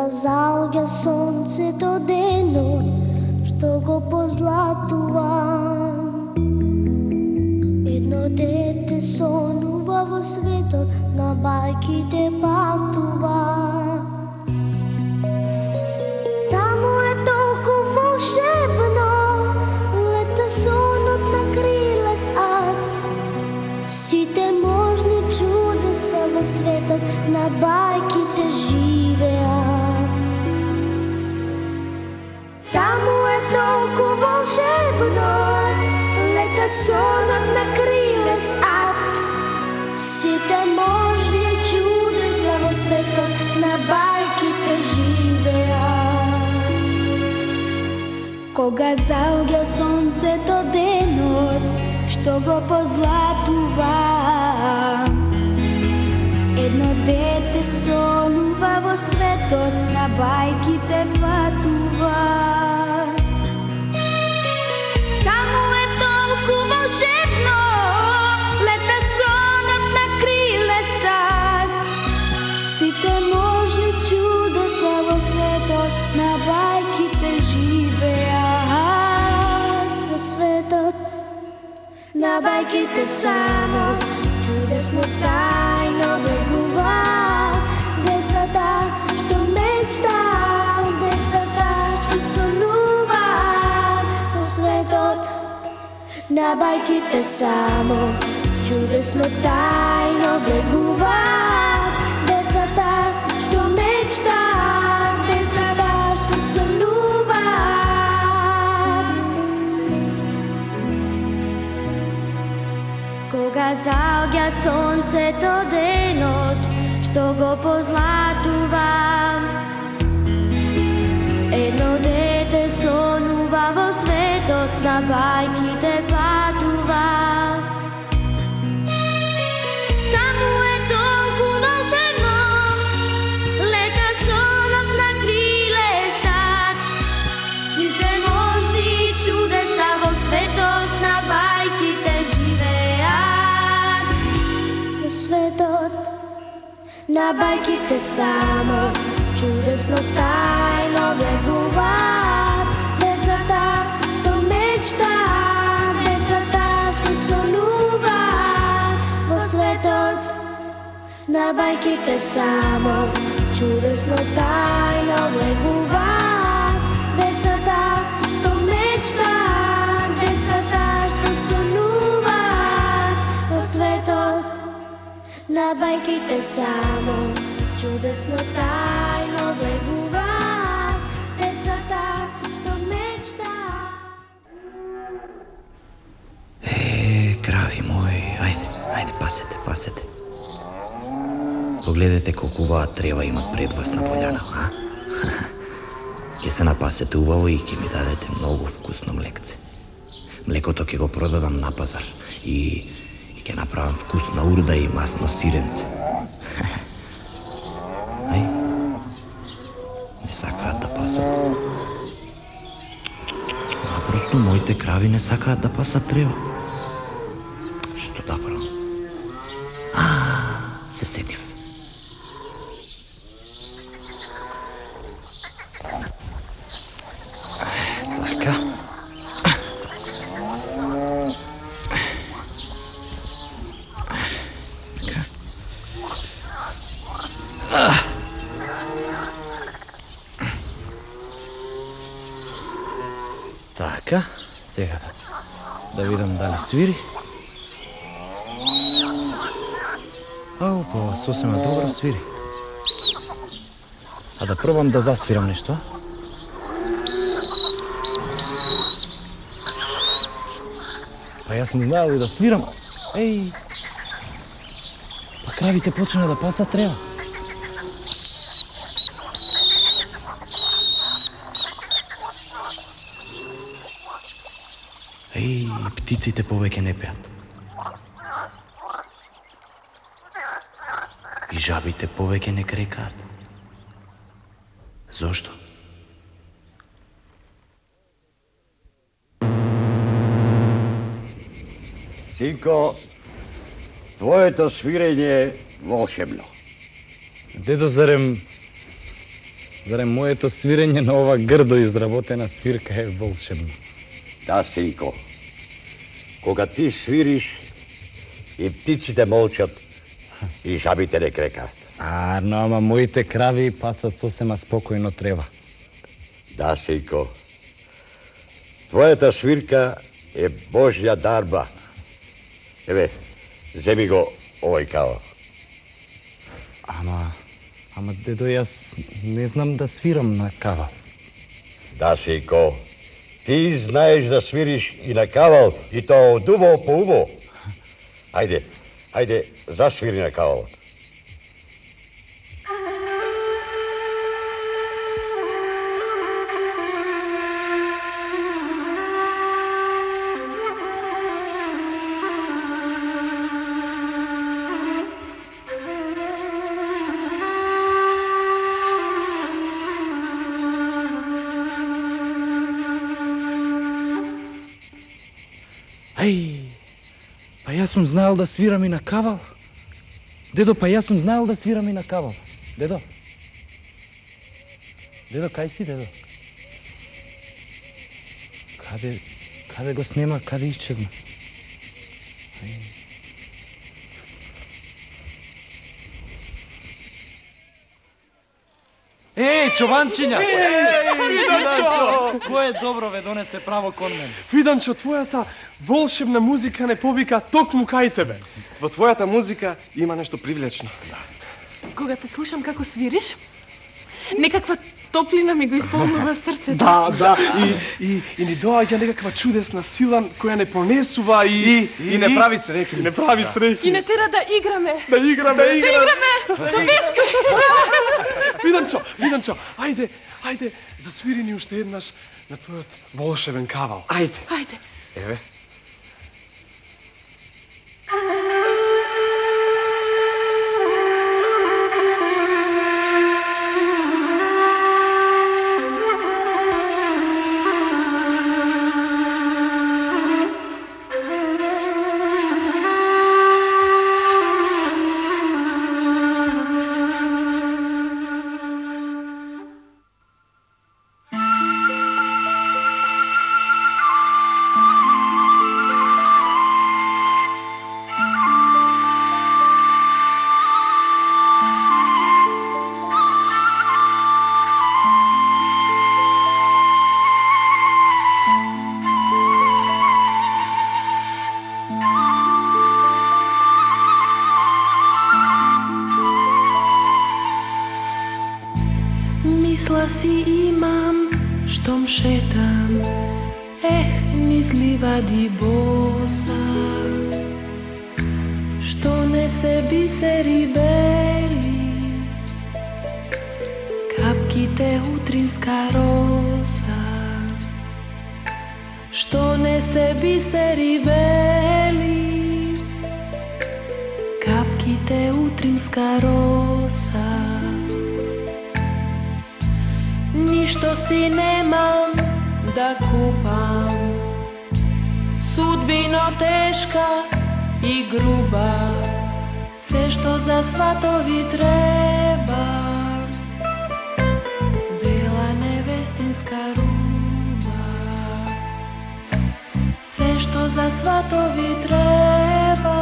заоѓа сонцето денот, што го позлатува. Едно дете сонува во светот, на бајките патува. Таму е толку волшебно, лета сонот на крилес ад. Сите можни чудеса во светот, на бајките живеат. Таму е толку волшебно, лета сонот на крилес ад. Сите можни чудеса во светот, на бајките живеат. Кога заоѓа сонцето денот, што го позлатува, едно дете сонува во светот, на бајките патува. Таму е толку волшебно, лета сонот на крилес ад. Сите можни чудеса во светот, на бајките живеат. Во светот, на бајките само чудесно тајно бегуваат. Децата што мечтаат, децата што сонуваат. Во светот, на бајките само чудесно тајно бегуваат. Децата што мечтаат, децата што сонуваат. Кога заоѓа сонцето денот, што го позлатува, едно дете сонува во светот, на бајките патува. Таму е толку волшебно, лета сонот на крилес ад. Сите можни чудеса во светот, на бајките живеат. Во светот, на бајките само чудесно тајно бегуваат. Децата што мечтаат, децата што сонуваат. Во светот, на бајките само чудесно тајно бегуваат. Децата што мечтаат, децата што сонуваат. Во светот, на бајките само чудесно тајно бегуваат. Децата што мечтаат. Крави мои, ајде, пасете. Погледете колку убава трева имат пред вас на пољана, а? Ке се напасете убаво и ќе ми дадете многу вкусно млекце. Млекото ќе го продадам на пазар и ќе направам вкусна урда и масно сиренце. Ај, не сакаат да пасат. Напросто моите крави не сакаат да пасат трева. Што да правам? Се сетив. Така. Така, сега да видам дали свири. Па сосема добро свири. А да пробам да засвирам нешто, а? Па јас сум знаел и да свирам. Еј! Па кравите почна да пасат трева. Еј, птиците повеќе не пеат. И жабите повеќе не крекаат. Зошто? Синко, твоето свирење е волшебно. Дедо, зарем Зарем моето свирење на ова грдо изработена свирка е волшебно? Да, синко. Кога ти свириш, и птиците молчат, и жабите не крекаат. Ама моите крави пасат сосема спокојно трева. Да, синко. Твојата свирка е Божја дарба. Еве, земи го овој кавал. Ама дедо, јас не знам да свирам на кавал. Да, синко. Ти знаеш да свириш и на кавал, и тоа од убо по убо. Ајде, засвири на кавалот. Па јас сум знаел да свирам и на кавал. Дедо, па јас сум знаел да свирам и на кавал. Дедо? Дедо, кај си, дедо? Каде го снема, каде исчезна? Чованчиња! Виданчо! Кој е добро ве донесе право кон мене? Виданчо, твојата волшебна музика не повика токму кај тебе. Во твојата музика има нешто привлечно. Кога те слушам како свириш, некаква топлина ми го исполнува срцето. Да, и ни доаѓа некаква чудесна сила која не понесува и не прави среќни. Не прави среќни. И не тера да играме. Да играме. До бескрај. Виданчо, ајде, засвири ни уште еднаш на твојот волшебен кавал. Ајде. Еве. Мисла си имам, штом шетам, низ ливади боса, што не се бисери бели, капките утринска роза, што не се бисери бели, капките утринска роза. Ништо си немам да купам, судбино тешка и груба, се што за сватови треба, бела невестинска руба, се што за сватови треба,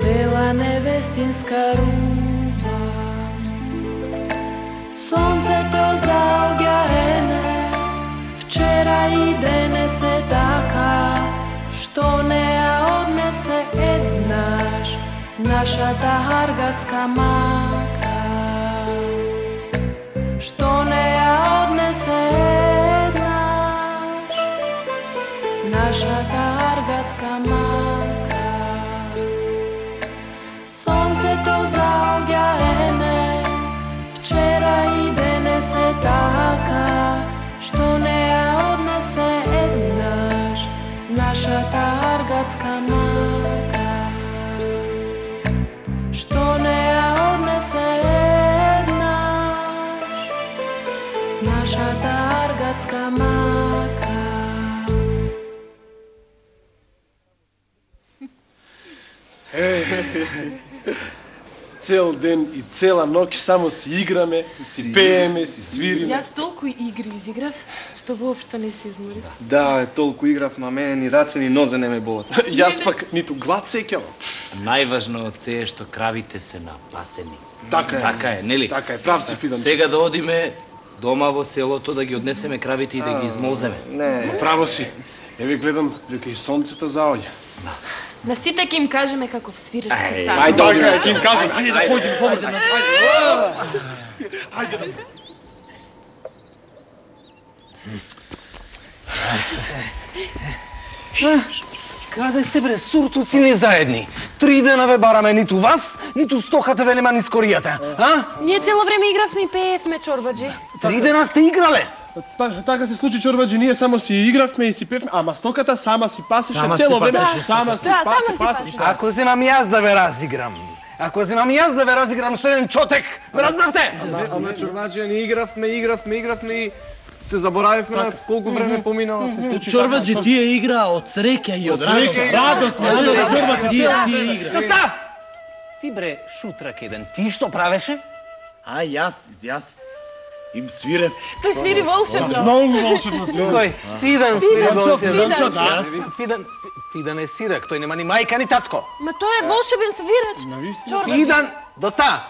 бела невестинска руба. Сонцето заоѓа ене, вчера и денес е така, што не ја однесе еднаш нашата харгатска мака. Што не ја однесе еднаш нашата харгатска мака. Сонцето заоѓа ене, вчера и денес е така, што не ја однесе еднаш нашата аргатска мака. Што не ја однесе еднаш нашата аргатска мака. цел ден и цела ноќ само си играме, си пееме, си свириме. Јас толку игри изиграв, што воопшто не се изморив. Да, толку играв, ма мене ни раце ни нозе не ме болат. Јас пак ниту глад сеќавам. Најважно од се е што кравите се напасени. Така е, нели? Така е, прав си Фиданчо. Сега да одиме дома во селото да ги однесеме кравите и да ги измолземе. Не. Право си. Еве гледам дека и сонцето заоѓа. На сите ќе им кажеме како свиреш се става. Ајде, така ќе им кажем. Ајде да појдеме помој нас. Ајде. Каде сте бре, суртуци не заедни? 3 дена ве бараме ниту вас, ниту стоката ве нема ни скоријата, а? Ние цело време игравме и пеевме, чорбаджи. 3 дена сте играле? Така се случи, чорбаджи, ние само си игравме и си певме, ама стоката сама си пасеше цело време. Сама си пасеше. Ако земам јас да ве разиграм, со еден чотек, ме разбравте? Ама чорбаджи, ни игравме и се заборавивме на колку време поминало се случи. Чорбаджи, тие игра од среќа и од радост. Чорбаджи, тие игра. Доста! Ти бре, шутрак еден, ти што правеше? А, јас им свирев. Тој свири волшебно. Многу волшебно свири. Кој? Фидан свири волшебно. Фидан. Фидан е сирак, тој нема ни мајка ни татко. Ма тој е волшебен свирач. Чорбаджи. Фидан, доста!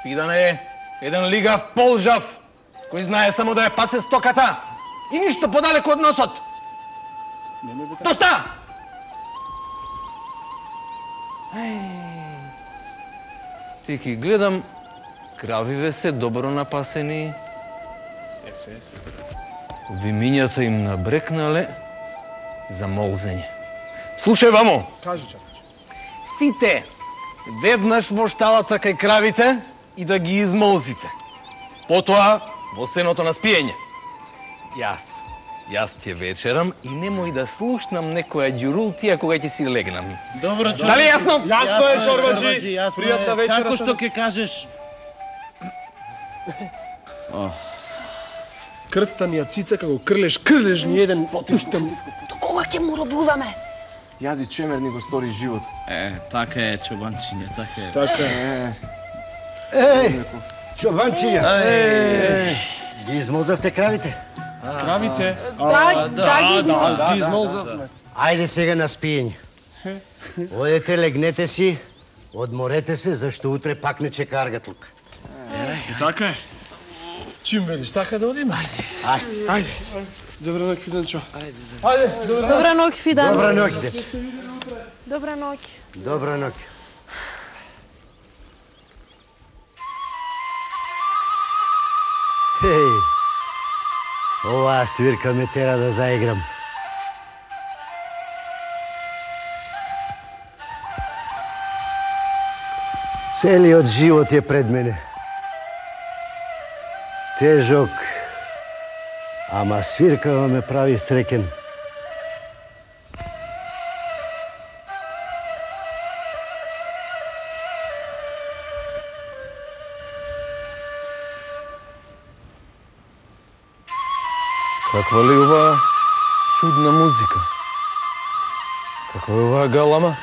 Фидан е еден лигав полжав, кој знае само да ја пасе стоката и ништо подалеку од носот. Доста! Ти ки гледам, кравиве се добро напасени. Вимињата им набрекнале за молзење. Слушај, вамо! Кажи, чорбаджи. Сите веднаш во шталата кај кравите и да ги измолзите. Потоа во сеното на спиење. Јас ќе вечерам и немој да слушнам некоја ѓурултија кога ќе си легнам. Добро, чорбаджи. Дали јасно? Јасно е, чорбаджи. Пријатна вечера. Како што ќе кажеш? Крвта ни ја цица како крлеш ни еден потиштен. До кога ќе му робуваме? Јади чемер ни го стори животот. Така е, чобанчиње, така е. Така е. Чобанчиња! Ги измолзавте кравите? Кравите? Да, ги измолзавме. Ајде сега на спиење. Одете, легнете си, одморете се, зашто утре пак не чека аргатлук. И така е. Чим велиш, така да одиме? Ајде. Добра ноќ, Фиданчо. Добра ноќ, Фидан. Добра ноќ, дече. Добра ноќ. Добра ноќ. Оваа свирка ме тера да заиграм. Целиот живот е пред мене. Тежок, ама свиркава ме прави среќен. Каква ли оваа чудна музика? Каква е оваа галама?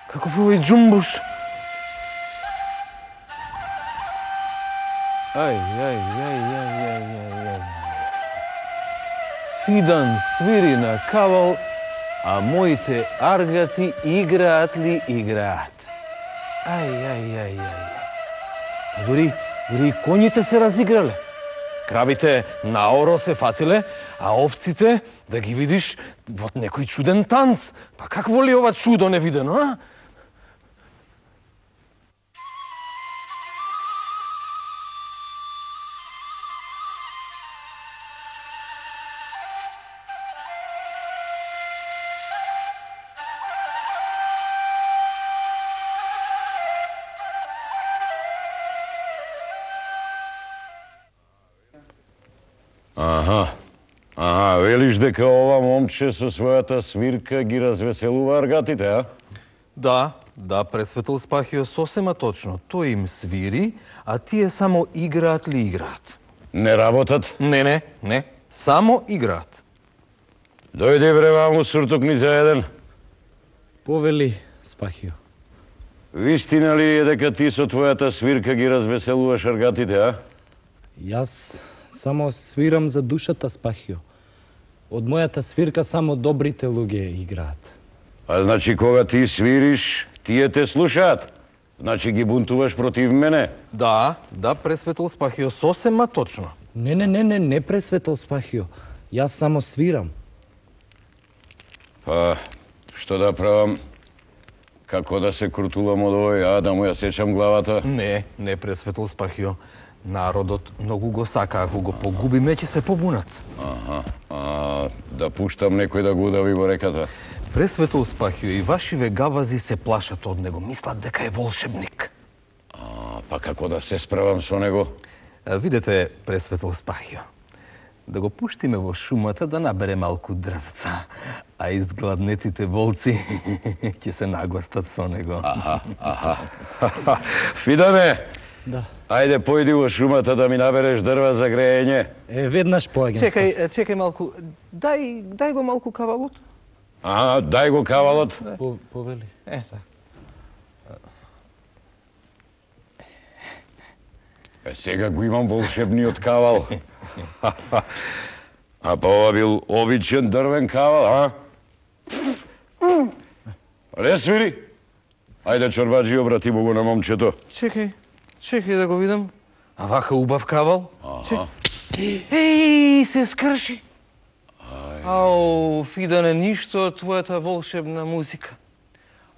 Каков е овој џумбуш? Ај. Фидан свири на кавал, а моите аргати играат ли играат? Ај. Па дури и коњите се разиграле. Кравите наоро се фатиле, а овците, да ги видиш, во некој чуден танц. Па какво ли ова чудо невидено, а? Велиш дека ова момче со својата свирка ги развеселува аргатите, а? Да, пресветл Спахио, сосема точно. Тој им свири, а тие само играат ли играат. Не работат? Не, само играат. Дојди бре ваму, суртук ни за еден. Повели, Спахио. Вистина ли е дека ти со твојата свирка ги развеселуваш аргатите, а? Јас само свирам за душата, Спахио. Од мојата свирка само добрите луѓе играат. А значи кога ти свириш, тие те слушаат? Значи ги бунтуваш против мене? Да, пресветол Спахио, сосема точно. Не, пресветол Спахио. Јас само свирам. Па, што да правам? Како да се крутулам од овој, да му ја сечам главата? Не, пресветол Спахио. Народот многу го сака, ако го погубиме, ќе се побунат. Да пуштам некој да го удави во реката? Пресветол Спахио, и вашиве гавази се плашат од него, мислат дека е волшебник. Па како да се справам со него? Видете, пресветол Спахио, да го пуштиме во шумата да набере малку дрвца, а изгладнетите волци ќе се нагластат со него. Фидане! Да. Ајде, појди во шумата да ми набереш дрва за греење. Веднаш поаѓам. Чекај малку. Дај го малку кавалот. Дај го кавалот. Повели. Сега го имам волшебниот кавал. А па ова бил обичен дрвен кавал, Не свири. Ајде, чорбаджи, обрати му го на момчето. Чекај да го видам. А вака убав кавал. Еј, се скрши. Ау, Фидане, ништо од твојата волшебна музика.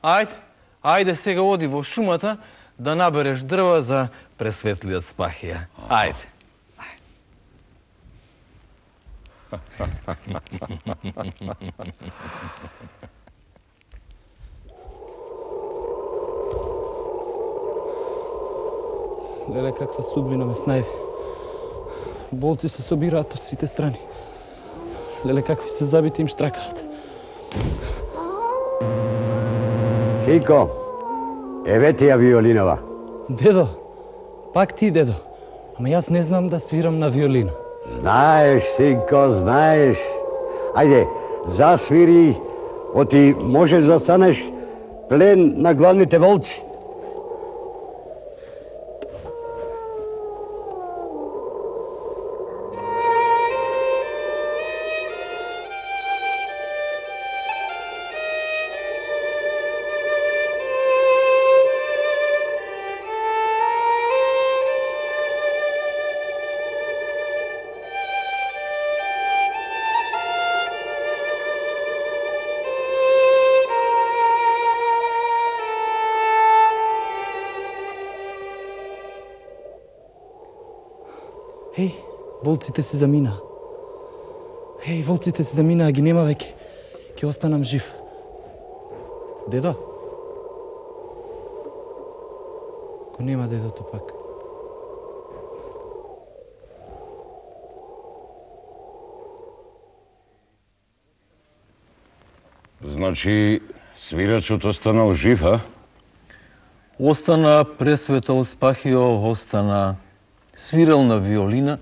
Ајде сега оди во шумата да набереш дрва за пресветлиот Спахија. Ајде. Леле, каква судбина ме снајде. Болци се собираат од сите страни. Леле, какви се забити им штракаат. Синко, еве ти ја виолинова. Дедо, пак ти, дедо. Ама јас не знам да свирам на виолина. Знаеш, синко, знаеш. Ајде, засвири, оти можеш да станеш плен на гладните волци. Еј, волците се замина. Еј, волците се замина, а ги нема веќе. Ќе останам жив. Дедо? Го нема дедото пак. Значи, свирачот останал жив, Остана пресветол Спахио, остана свирал на виолина,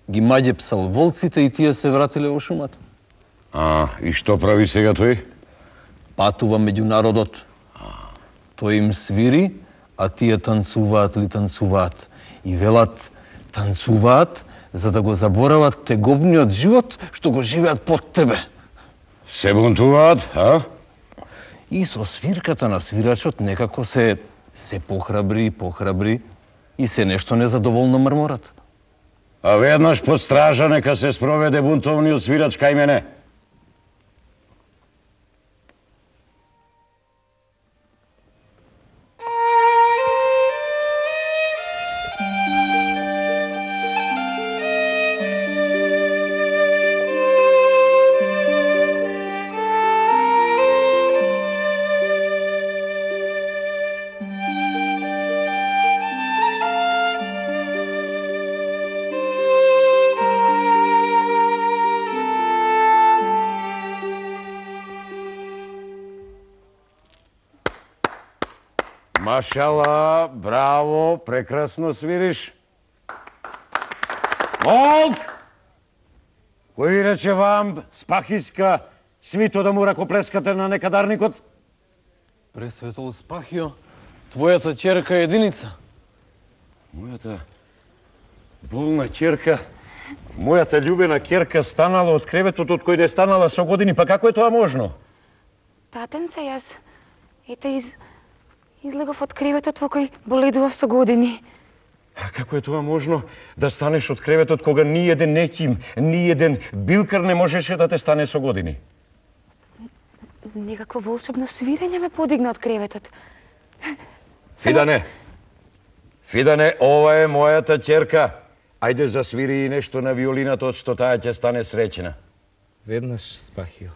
ги маѓепсал волците и тие се вратиле во шумата. И што прави сега тој? Патува меѓу народот. Тој им свири, а тие танцуваат. И велат, танцуваат за да го заборават тегобниот живот што го живеат под тебе. Се бунтуваат, И со свирката на свирачот некако се похрабри и се нешто незадоволно мрморат. А веднаш под стража нека се спроведе бунтовниот свирач кај мене. Машала, браво, прекрасно свириш. Молк! Кој ви рече вам, Спахиска, свито да му ракоплескате на некадарникот? Пресветол Спахио, твојата ќерка Единица? Мојата болна ќерка, мојата љубена ќерка станала од креветот од кој да е станала со години, па како е тоа можно? Татенце, јас излегов од креветот во кој боледував со години. А како е тоа можно да станеш од креветот кога ни еден неким, ни еден билкар не можеше да те стане со години? Некакво волшебно свирење ме подигна од креветот. Фидане, ова е мојата ќерка. Ајде засвири и нешто на виолината, од што таа ќе стане среќна. Веднаш, Спахио.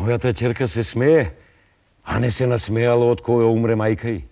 Мојата ќерка се смее, а не се насмеала од која умре мајка ѝ.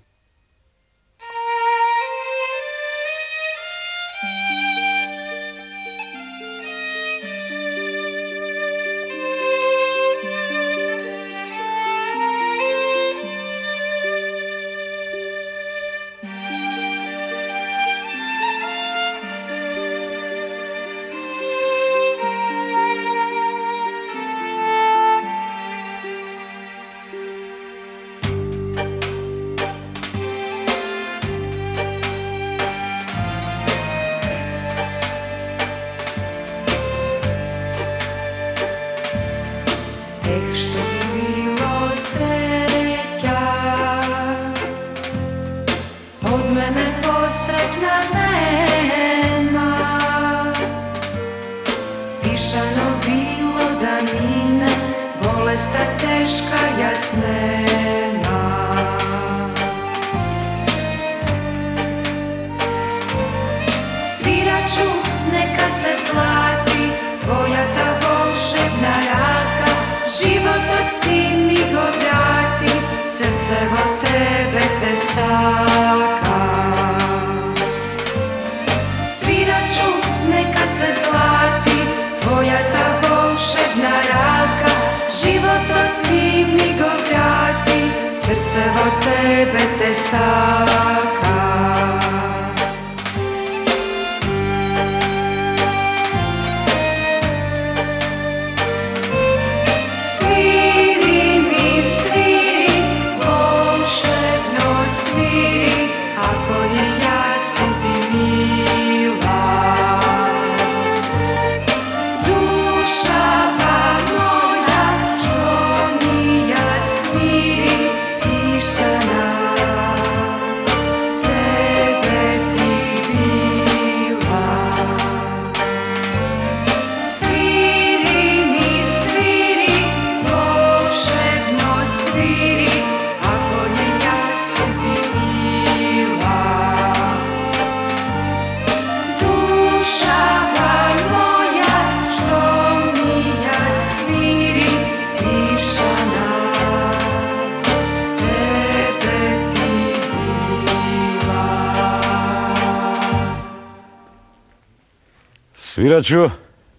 Свирачу,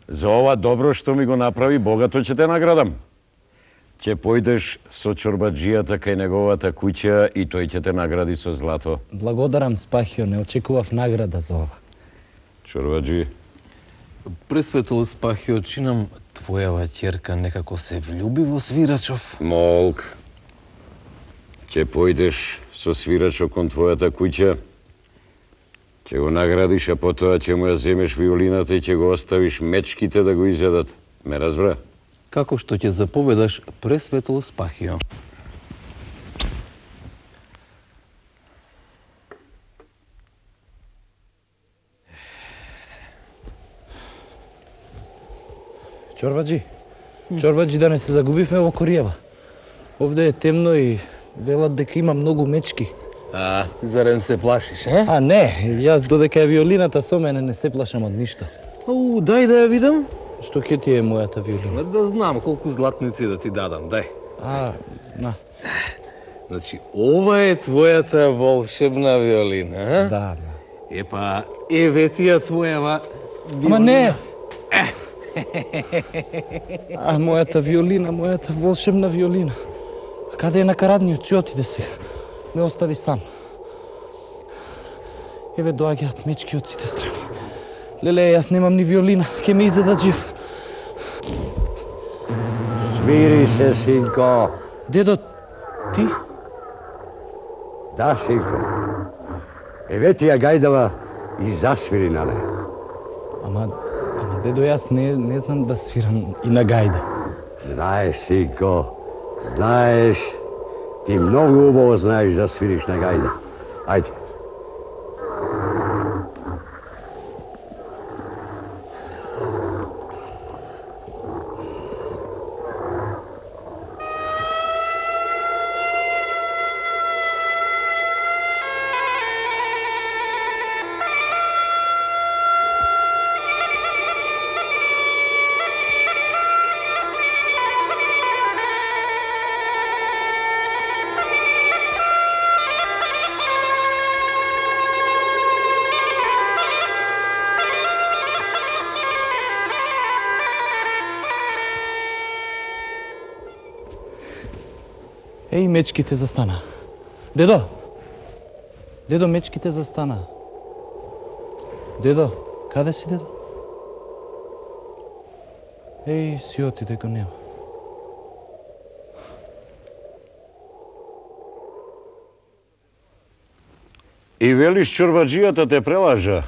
за ова добро што ми го направи, богато ќе те наградам. Ќе појдеш со чорбаджијата кај неговата куќа и тој ќе те награди со злато. Благодарам, Спахио, не очекував награда за ова. Чорбаджи. Пресветло Спахио, чинам твојава ќерка некако се влюби во Свирачов. Молк. Ќе појдеш со Свирачо кон твојата куќа, ќе го наградиш, а потоа ќе му ја земеш виолината и ќе го оставиш мечките да го изјадат. Ме разбра? Како што ќе заповедаш, Пресветло Спахио. Чорбаджи, да не се загубивме во Кориева. Овде е темно и велат дека има многу мечки. Зарем се плашиш, е? Не, јас додека е виолината со мене не се плашам од ништо. Дај да ја видам. Што ќе ти е мојата виолина? Да знам колку златници да ти дадам, дај. На. Значи, ова е твојата волшебна виолина, а? Да. Епа, еве ти ја твојава виолина. Ама не! А, мојата виолина, мојата волшебна виолина. А каде е накарадниот? Си отиде сега. Ме остави сам. Еве доаѓаат мечки од сите страни. Леле, јас немам ни виолина, ќе ме изедат жив. Смири се, синко. Дедо, ти? Да, синко. Еве ти ја гајдава и засвири на неја. Ама дедо, јас не знам да свирам и на гајда. Знаеш, синко, знаеш, ти многу убаво знаеш да свириш на гајда. Ајде. Еј, мечките застана. Дедо! Дедо, мечките застана. Дедо, каде си, дедо? Еј, си отиде, го нема. И велиш чорбаджијата те прелажа.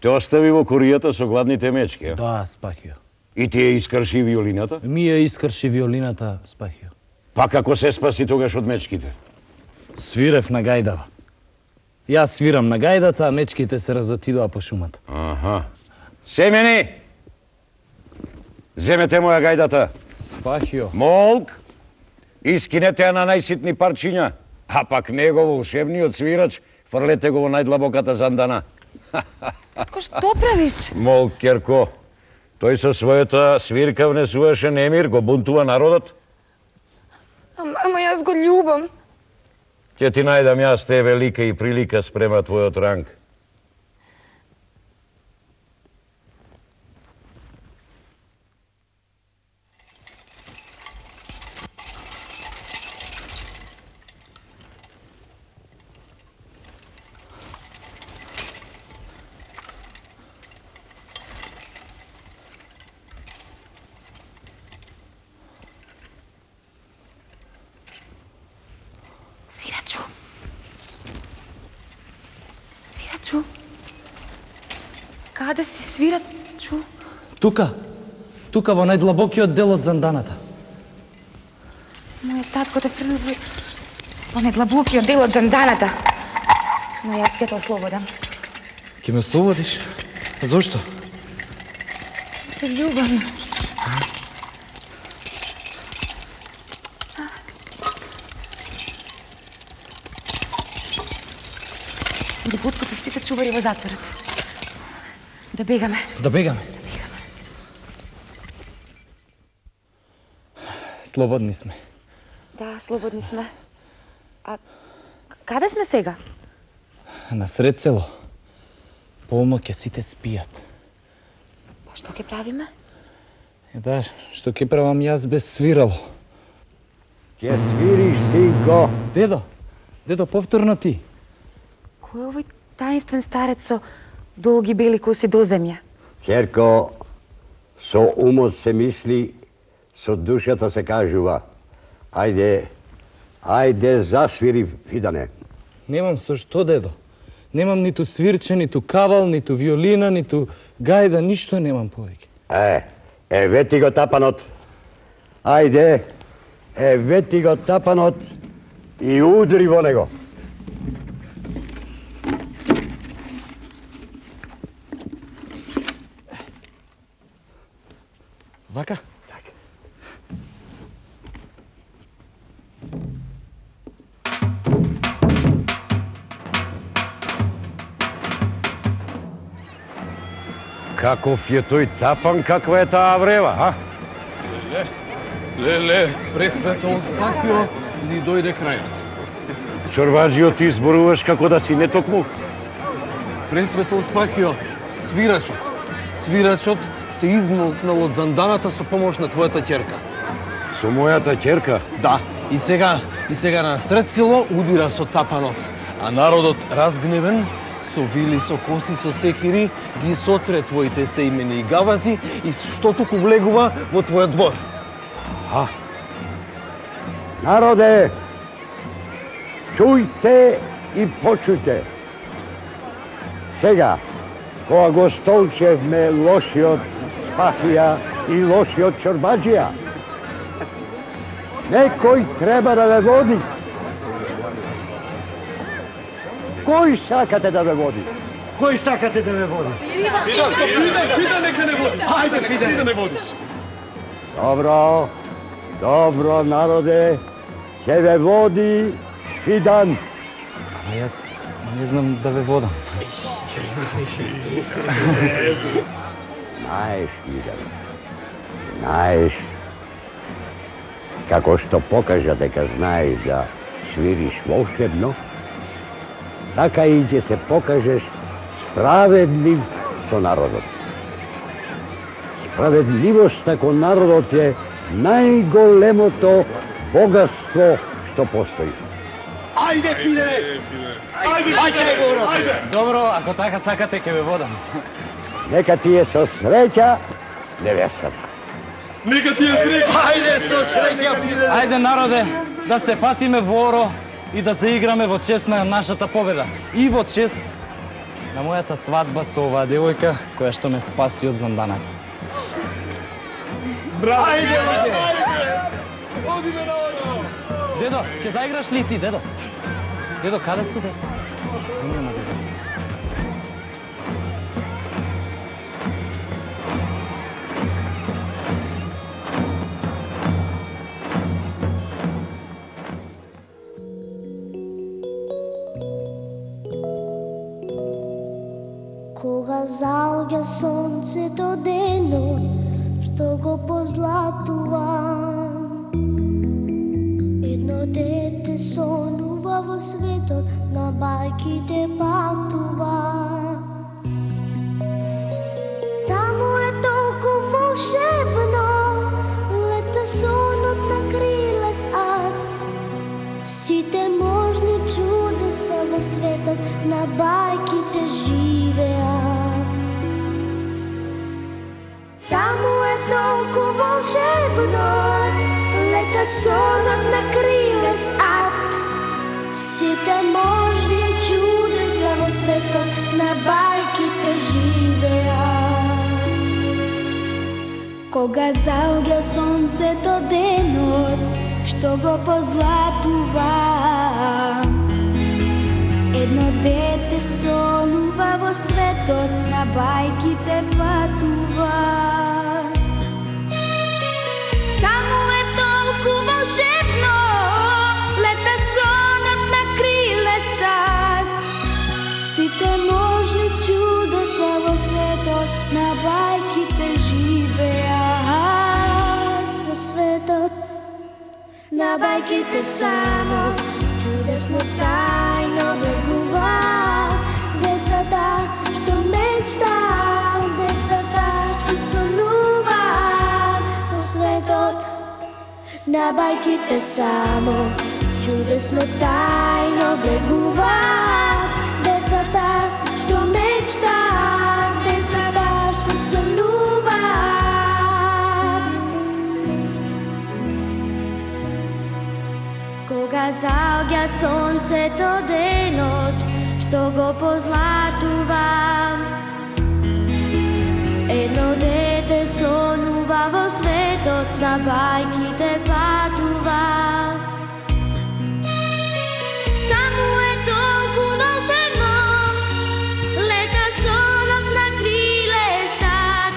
Те остави во куријата со гладните мечки, а? Да, Спахио. И ти ја искрши виолината? Ми ја искрши виолината, Спахио. Па како се спаси тогаш од мечките? Свирев на гајдава. Јас свирам на гајдата, а мечките се разотидоа по шумата. Аха. Семени! Земете моја гајдата. Спахио. Молк! Искинете ја на најситни парчиња, а пак него волшебниот свирач фрлете го во најдлабоката зандана. Татко, што правиш? Молк, Керко, тој со својата свирка внесуваше немир, го бунтува народот. Ама јас го љубам. Ќе ти најдам јас тебе лика и прилика спрема твојот ранг. Свирачу. Свирачу. Каде си, свирачу? Тука. Тука во најдлабокиот дел од занданата. Мојот татко те фрли во најдлабокиот дел од занданата. Но јас ке те ослободам. Ке ме ослободиш? Зошто? Се љубам. Да поткупи сите чувари во затворот. Да бегаме. Да бегаме. Слободни сме. Да, слободни сме. А каде сме сега? На сред село. Полноќе сите спијат. Па што ќе правиме? Да, што ќе правам јас без свирало? Ќе свириш, синко. Дедо, повторно ти. Кој е овој таинствен старец со долги бели коси до земја? Керко, со умот се мисли, со душата се кажува. Ајде, засвири, Видане. Немам со што, дедо. Немам ниту свирче, ниту кавал, ниту виолина, ниту гајда, ништо немам повеќе. Еве ти го тапанот. Ајде, еве ти го тапанот и удри во него. Вака? Каков е тој тапан, каква е таа врева, а? Леле, пресветол Спахио, ни дојде крајот. Чорбаджио, ти зборуваш како да си не токму. Пресветло Спахио, свирачот се измолкнал од занданата со помош на твојата ќерка. Со мојата ќерка? Да, и сега на сред село удира со тапанот, а народот разгневен, со вили, со коси, со секири, ги сотре твоите сеимени и гавази и што туку влегува во твојот двор. Народе, чујте и почујте. Сега, кога го столчевме лошиот Спахија и лошиот Чорбаджија, некој треба да ве води. Кој сакате да ве води? Кој сакате да ве води? Фидан нека не води. Ајде, Фидан. Да не водиш. Добро, народе, ќе ве води Фидан. Ама јас не знам да ве водам. Знаеш, Фидан, знаеш, како што покажа дека знаеш да свириш волшебно, така и ќе се покажеш справедлив со народот. Справедливоста кон народот е најголемото богатство што постои. Ајде, Фидане! Ајде, баќај го урок! Добро, ако така сакате, ќе ве водам. Нека ти е со среќа невестата. Нека ти е среќа! Ајде со среќа, Фидане! Ајде, народе, да се фатиме во оро и да заиграме во чест на нашата победа. И во чест на мојата свадба со оваа девојка, која што ме спаси од занданата. Браво! Ајде, Одиме на оро! Дедо, ќе заиграш ли ти, дедо? Дедо, каде си, дедо? Нема, дедо. Кога заоѓа сонцето денот, што го позлатува, едно дете сонува во светот, на бајките патува. Таму е толку волшебно, лета сонот на крилес ад. Сите можни чудеса во светот, на бајките живеат. Таму е толку волшебно, лета сонот на крилес ад. Сите можни чудеса во светот, на бајките живеат. Кога заоѓа сонцето денот, што го позлатува, едно дете сонува во светот, на бајките патува. Таму е толку волшебно, лета сонот на крилес ад. Сите можни чудеса во светот, на бајките живеат. Во светот, на бајките само, чудесно тајно влегуваат. Децата што мечтаат, децата што сонуваат. Во светот, на бајките само, чудесно тајно влегуваат. Децата што мечтаат, децата што сонуваат. Кога заоѓа сонцето денот, што го позлатува, едно дете сонува во светот, на бајките патува. Таму е толку волшебно, лета сонот на крилес ад.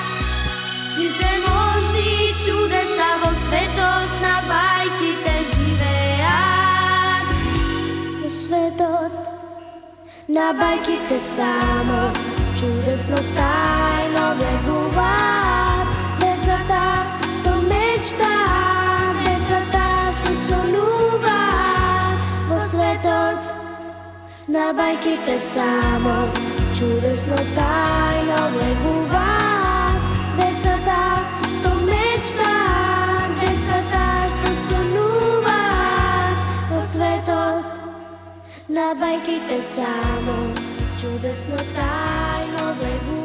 Сите можни чудеса во светот, на бајките живеат. Во светот, на бајките само, чудесно тајно влегуваат. Децата што мечтаат, децата што сонуваат. Во светот, На бајките само чудесно тајно влегуваат. Децата што мечтаат, децата што сонуваат во светот. На бајките само чудесно тајно влегуваат.